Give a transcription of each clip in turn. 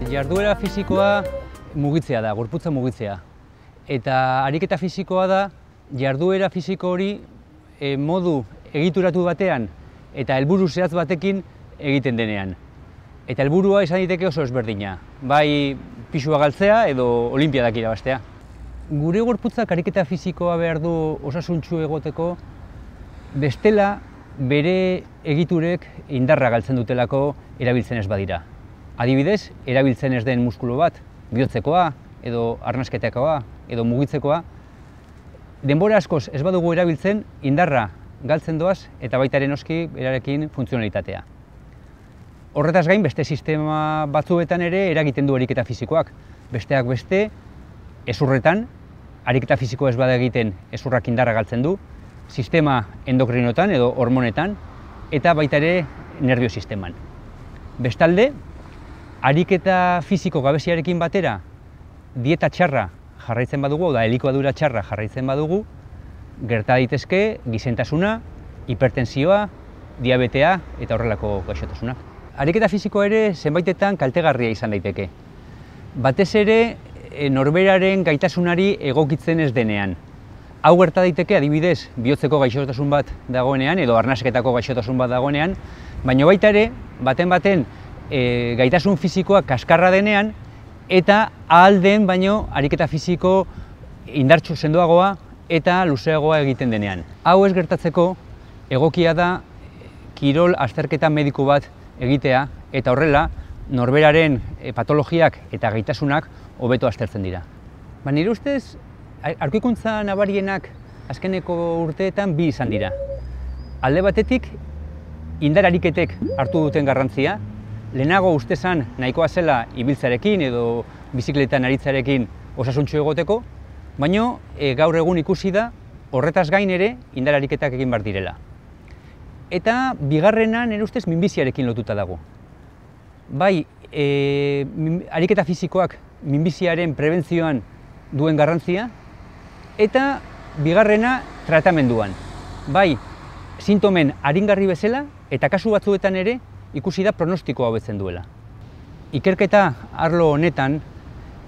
Jarduera fisikoa mugitzea da, gorputza mugitzea. Eta ariketa fisikoa da, jarduera fisiko hori modu egituratu batean eta helburu zehatz batekin egiten denean. Eta helburua izan daiteke oso ezberdina, bai pisua galtzea edo olinpiadak irabaztea. Gure gorputzak ariketa fisikoa behar du osasuntsu egoteko, bestela bere egiturek indarra galtzen dutelako erabiltzen ez badira. Adibidez, erabiltzen ez den muskulu bat, bihotzekoa, edo arnasketakoa, edo mugitzekoa, denbora askoz ez badugu erabiltzen, indarra galtzen doaz eta baita ere noski berarekin funtzionalitatea. Horretaz gain, beste sistema batzuetan ere eragiten du ariketa fisikoak. Besteak beste, hezurretan, ariketa fisikoa ez bada egiten hezurrak indarra galtzen du, sistema endokrinotan edo hormonetan, eta baita ere nerbio sisteman. Bestalde, ariketa fisiko gabeziarekin batera, dieta txarra jarraitzen badugu, da elikadura txarra jarraitzen badugu, gerta daitezke gizentasuna, hipertensioa, diabetea eta horrelako gaixotasunak. Ariketa fisikoa ere zenbaitetan kaltegarria izan daiteke. Batez ere norberaren gaitasunari egokitzen ez denean. Hau gerta daiteke adibidez bihotzeko gaixotasun bat dagoenean edo arnasketako gaixotasun bat dagoenean, baina baita ere baten gaitasun fisikoa kaskarra denean eta ahal den baino ariketa fisiko indartsu sendoagoa eta luzeagoa egiten denean. Hau ez gertatzeko egokia da kirol azterketa mediku bat egitea eta horrela norberaren patologiak eta gaitasunak hobeto aztertzen dira. Nire ustez, aurkikuntza nabarienak azkeneko urteetan bi izan dira. Alde batetik, indar ariketek hartu duten garrantzia, lehenago uste zan nahikoa zela ibiltzarekin edo bizikletan aritzarekin osasuntsu egoteko, baina gaur egun ikusi da horretaz gain ere indar ariketak egin behar direla. Eta bigarrena nire ustez minbiziarekin lotuta dago. Bai, ariketa fisikoak minbiziaren prebentzioan duen garrantzia, eta bigarrena tratamenduan. Bai, sintomen aringarri bezala eta kasu batzuetan ere ikusi da pronostikoa hobetzen duela. Ikerketa arlo honetan,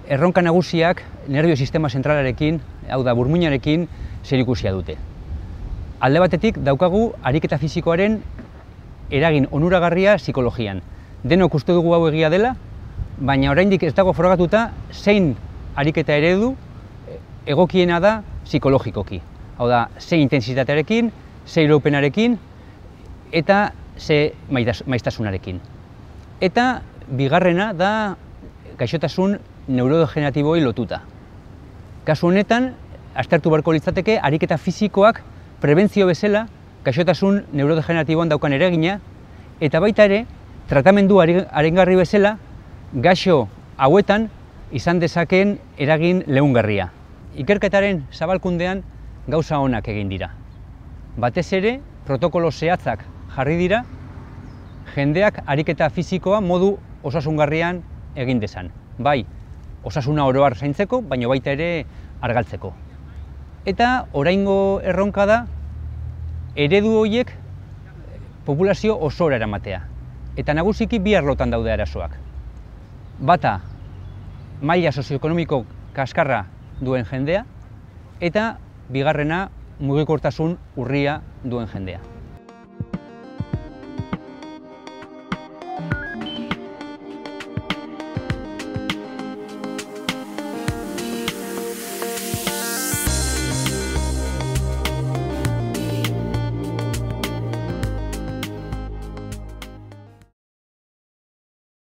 erronka nagusiak nerbio sistema zentralarekin, hau da burmuinarekin, zerikusia dute. Alde batetik daukagu ariketa fisikoaren eragin onuragarria psikologian. Denok uste dugu hau egia dela, baina oraindik ez dago frogatuta zein ariketa eredu egokiena da psikologikoki. Hau da, ze intensitatearekin, ze iraupenarekin eta ze maiztasunarekin. Eta bigarrena da gaixotasun neurodegeneratiboei lotuta. Kasu honetan, aztertu beharko litzateke ariketa fisikoak prebentzio bezala gaixotasun neurodegeneratiboan daukan eragina eta baita ere tratamendu aringarri bezala gaixo hauetan izan dezakeen eragin leungarria. Ikerketaren zabalkundean gauza onak egin dira. Batez ere, protokolo zehatzak jarri dira, jendeak ariketa fisikoa modu osasungarrian egin dezan. Bai, osasuna oro har zaintzeko, baina baita ere argaltzeko. Eta oraingo erronka da, eredu horiek populazio osora eramatea. Eta nagusiki bi arlotan daude arazoak. Bata, maila sozioekonomiko kaskarra duen jendea, eta bigarrena mugikortasun urria duen jendea.